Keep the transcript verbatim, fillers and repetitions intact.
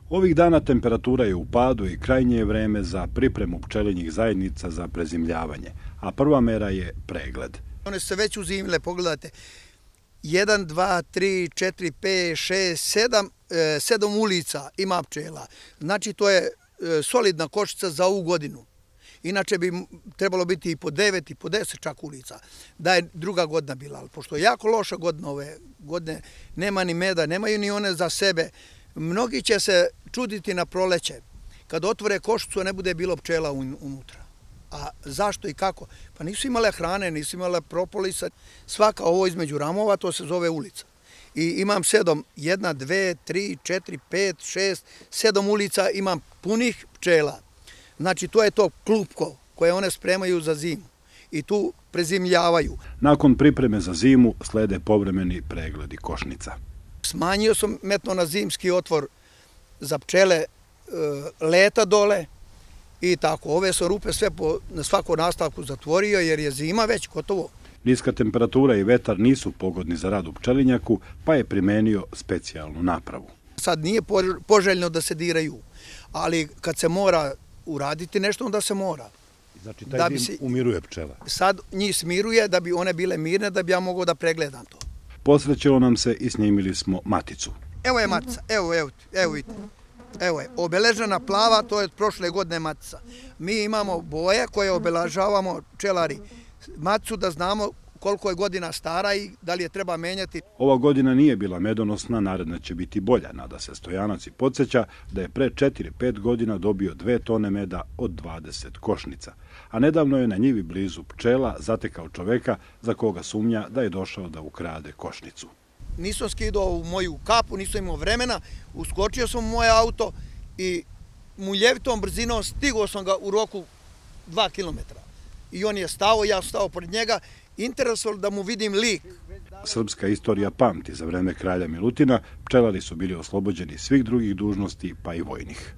Ovih dana temperatura je u padu i krajnje je vreme za pripremu pčelinjih zajednica za prezimljavanje, a prva mera je pregled. One su se već uzimile, pogledajte, jedan, dva, tri, četiri, pet, šest, sedam, sedam ulica ima pčela. Znači to je solidna košnica za ovu godinu. Inače bi trebalo biti i po devet i po deset čak ulica, da je druga godina bila. Ali pošto je jako loša godina ove godine, nema ni meda, nemaju ni one za sebe. Mnogi će se čuditi na proleće. Kad otvore košnicu ne bude bilo pčela unutra. A zašto i kako? Pa nisu imale hrane, nisu imale propolisa. Svaka ovo između ramova, to se zove ulica. I imam sedam, jedna, dve, tri, četiri, pet, šest, sedam ulica imam punih pčela. Znači to je to klupko koje one spremaju za zimu i tu prezimljavaju. Nakon pripreme za zimu slede povremeni pregledi košnica. Smanjio sam metno na zimski otvor za pčele leta dole i tako. Ove su rupe sve na svaku nastavku zatvorio jer je zima već gotovo. Niska temperatura i vetar nisu pogodni za rad u pčelinjaku, pa je primenio specijalnu napravu. Sad nije poželjno da se diraju, ali kad se mora uraditi nešto, onda se mora. Znači taj dim umiruje pčela? Sad njih smiruje da bi one bile mirne, da bi ja mogao da pregledam to. Posrećilo nam se i snimili smo maticu. Evo je matica, evo, evo, evo vidite. Evo je, obeležena plava, to je od prošle godine matica. Mi imamo boje koje obeležavamo pčelari. Maticu da znamo koliko je godina stara i da li je treba menjati. Ova godina nije bila medonosna, naredna će biti bolja. Nada se Stojanac i podsjeća da je pre četiri pet godina dobio dve tone meda od dvadeset košnica. A nedavno je na njivi blizu pčela zatekao čoveka za koga sumnja da je došao da ukrade košnicu. Nisam skidao u moju kapu, nisam imao vremena, uskočio sam u moje auto i muljevitom brzinom stigao sam ga u roku dva kilometra. I on je stao, ja sam stao pored njega, interesovalo da mu vidim lik. Srpska istorija pamti, za vreme kralja Milutina pčelari su bili oslobođeni svih drugih dužnosti, pa i vojnih.